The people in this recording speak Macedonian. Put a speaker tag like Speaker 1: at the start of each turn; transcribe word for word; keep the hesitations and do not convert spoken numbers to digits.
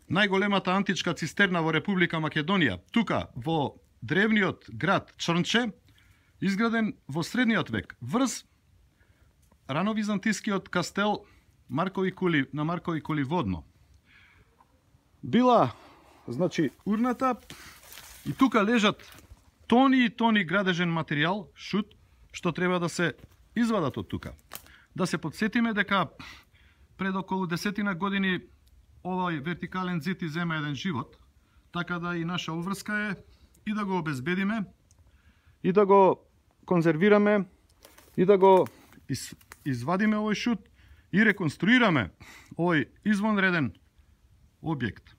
Speaker 1: најголемата античка цистерна во Република Македонија, тука во древниот град Чрнче, изграден во средниот век, врз рановизантискиот кастел Маркови кули на Маркови кули водно. Била, значи, урната и тука лежат тони и тони градежен материјал, шут, што треба да се извадат од тука. Да се подсетиме дека пред околу десетина години овој вертикален зид изема еден живот, така да и наша обврска е и да го обезбедиме, и да го конзервираме, и да го из, извадиме овој шут и реконструираме овој извонреден објект.